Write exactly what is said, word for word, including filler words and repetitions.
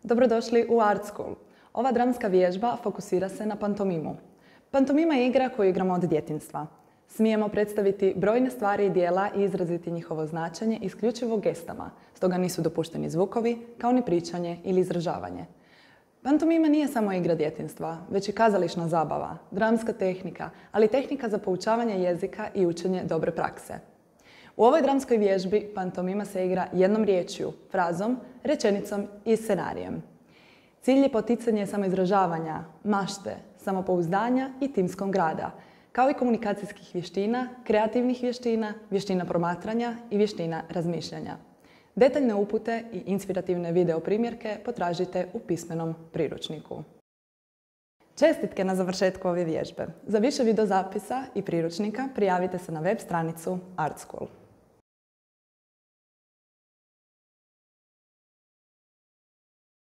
Dobrodošli u Art School. Ova dramska vježba fokusira se na pantomimu. Pantomima je igra koju igramo od djetinjstva. Smijemo predstaviti brojne stvari i djela i izraziti njihovo značenje isključivo gestama, stoga nisu dopušteni zvukovi, kao ni pričanje ili izražavanje. Pantomima nije samo igra djetinjstva, već i kazališna zabava, dramska tehnika, ali i tehnika za poučavanje jezika i učenje dobre prakse. U ovoj dramskoj vježbi pantomima se igra jednom riječju, frazom, rečenicom i scenarijem. Cilj je poticanje samoizražavanja, mašte, samopouzdanja i timskog rada, kao i komunikacijskih vještina, kreativnih vještina, vještina promatranja i vještina razmišljanja. Detaljne upute i inspirativne video primjerke potražite u pismenom priručniku. Čestitke na završetku ove vježbe. Za više videozapisa i priručnika prijavite se na web stranicu Art School.